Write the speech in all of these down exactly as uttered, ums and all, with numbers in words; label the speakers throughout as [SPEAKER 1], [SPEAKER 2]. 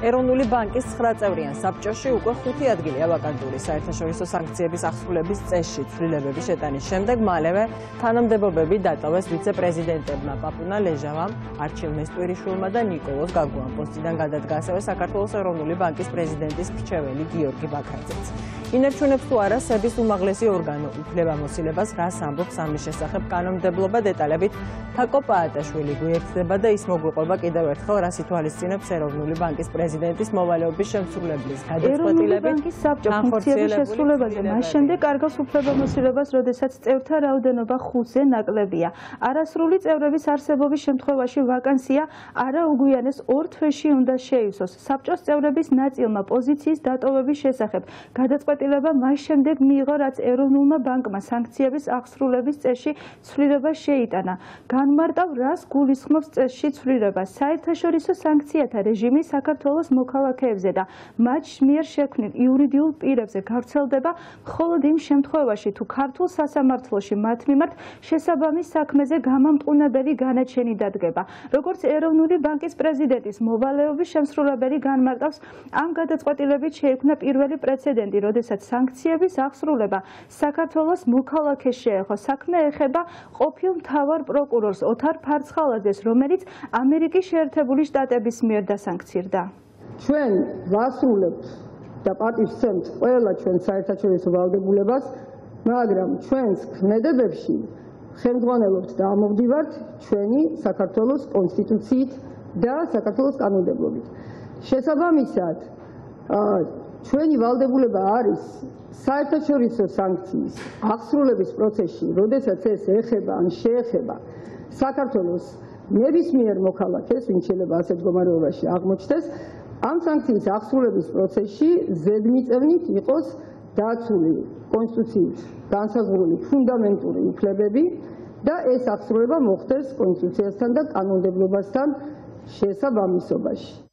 [SPEAKER 1] ეროვნული ბანკის ცხრა წევრიან საბჭოში უკვე ხუთი ადგილია ვაკანტური. საერთაშორისო სანქციების აღსრულების წესში ცვლილებების შეტანის შემდეგ მალევე თანამდებობები დატოვეს ვიცე-პრეზიდენტებმა პაპუნა ლეჟავამ, არჩილ მესტვირიშვილმა და ნიკოლოზ გაგუამ. პოსტიდან გადადგა ასევე საქართველოს ეროვნული ბანკის პრეზიდენტის მრჩეველი გიორგი ბაქრაძეც. ინარჩუნებს თუ არა სების უმაღლესი ორგანო უფლებამოსილებას, რას ამბობს ამის შესახებ კანონმდებლობა დეტალებით თაკო პაატაშვილი გვიერთდება და ის მოგვიყვება კიდევ ერთხელ, რას ითვალისწინებს ეროვნული ბანკის პრეზიდენტის მოვალეობის შემსრულებლის გადაწყვეტილებით
[SPEAKER 2] განხორციელების შესრულებაზე მას შემდეგ კარგავს უფლებამოსილებას, როდესაც წევრთა რაოდენობა ხუთზე ნაკლებია. არასრული წევრების არსებობის შემთხვევაში ვაკანსია არაუგვიანეს ორ თვეში უნდა შეივსოს. საბჭოს წევრების ნაწილმა პოზიციის დატოვების შესახებ გადაწყვეტილება მას შემდეგ მიიღო, რაც ეროვნულმა ბანკმა სანქციების აღსრულების წესში ცვლილება შეიტანა. განმარტავ, რას გულისხმობს წესში ცვლილება. საერთაშორისო სანქციათა რეჟიმი საქართველოს მოქალაქეებზე და მათ მიერ შექმნილ იურიდიულ პირებზე გავრცელდება მხოლოდ იმ შემთხვევაში, თუ ქართულ სასამართლოში მათ მიმართ შესაბამის საქმეზე გამამტყუნებელი განაჩენი დადგება. როგორც ეროვნული ბანკის პრეზიდენტის მოვალეობის შემსრულებელი განმარტავს, ამ გადაწყვეტილებით შეიქმნა პირველი პრეცედენტი, როდესაც სანქციების აღსრულება საქართველოს მოქალაქეს შეეხო. საქმე ეხება ყოფილ მთავარ პროკურორს ოთარ ფარცხალაძეს, რომელიც ამერიკის შეერთებული შტატების მიერ დასანქცირდა.
[SPEAKER 3] ჩვენ ვასრულებთ და პატივს ვცემთ ყველა ჩვენ საერთაშორისო ვალდებულებას, მაგრამ ჩვენს ქმედებებში ხელმძღვანელობთ და ამოვდივართ ჩვენი საქართველოს კონსტიტუციით და საქართველოს კანონმდებლობით. შესაბამისად, ჩვენი ვალდებულება არის საერთაშორისო სანქციის აღსრულების პროცესში, როდესაც ეს ეხება ან შეეხება საქართველოს ნებისმიერ მოქალაქეს, ვინც შეიძლება ასეთ მდგომარეობაში აღმოჩნდეს, ამ სანქციის აღსრულების პროცესში ზედმიწევნით იყოს დაცული კონსტიტუციით განსაზღვრული ფუნდამენტური უფლებები და ეს აღსრულება მოხდეს კონსტიტუციასთან და კანონმდებლობასთან შესაბამისობაში.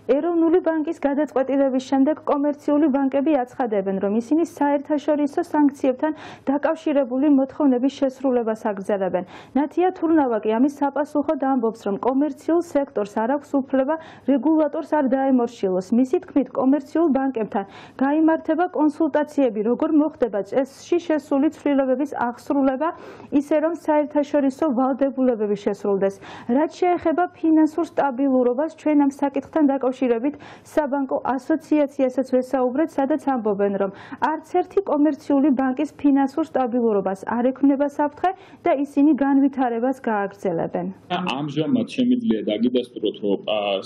[SPEAKER 2] ეროვნული ბანკის გადაწყვეტილების შემდეგ კომერციული ბანკები აცხადებენ, რომ ისინი საერთაშორისო სანქციებთან დაკავშირებული მოთხოვნების შესრულებას აგრძელებენ. ნათია თურნავაკი ამის საპასუხოდ ამბობს, რომ კომერციულ სექტორს არ აქვს უფლება რეგულატორს არ დაემორჩილოს. მისი თქმით, კომერციულ ბანკებთან გაიმართება კონსულტაციები, როგორ მოხდება წესში შესული ცვლილებების აღსრულება, ისე რომ საერთაშორისო ვალდებულებები შესრულდეს. რაც შეეხება ფინანსურ სტაბილურობას, ჩვენ ამ საკითხთან დაკავშირებით საბანკო ასოციაციასაც ვესაუბრეთ, სადაც ამბობენ, რომ არც ერთი კომერციული ბანკის ფინანსურ სტაბილურობას არ ექმნება საფრთხე და ისინი განვითარებას გააგრძელებენ.
[SPEAKER 4] ამჟამად შემიძლია დაგიდასტუროთ, რომ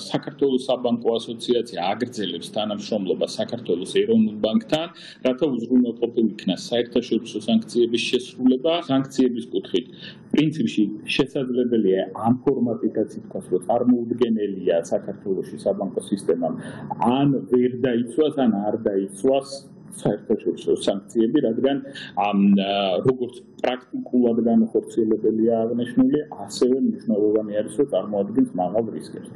[SPEAKER 4] საქართველოს საბანკო ასოციაცია აგრძელებს თანამშრომლობას საქართველოს ეროვნულ ბანკთან, რათა უზრუნველყოფილ იქნას საერთაშორისო სანქციების შესრულება. სანქციების კუთხით პრინციპში შესაძლებელია ამ ფორმატითაც ითქვას, რომ წარმოუდგენელია საქართველოში საბანკო სისტემამ ან ვერ დაიცვას, ან არ დაიცვას საერთაშორისო სანქციები, რადგან როგორც პრაქტიკულად განხორციელებელია აღნიშნული, ასევე მნიშვნელოვანი არის, რომ წარმოადგენს მაღალ რისკებს.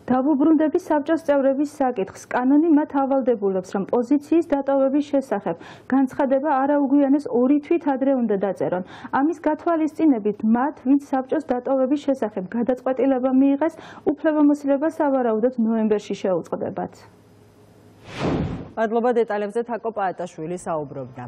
[SPEAKER 2] დავუბრუნდები საბჭოს წევრების საკითხს. კანონი მათ ავალდებულებს, რომ პოზიციის დატოვების შესახებ განცხადება არაუგვიანეს ორი თვით ადრე უნდა დაწერონ. ამის გათვალისწინებით მათ, ვინც საბჭოს დატოვების შესახებ გადაწყვეტილება მიიღეს, უფლებამოსილება სავარაუდოდ ნოემბერში შეუწყდებათ.
[SPEAKER 1] მადლობა დეტალებზე თაკო პაატაშვილი საუბრობდა.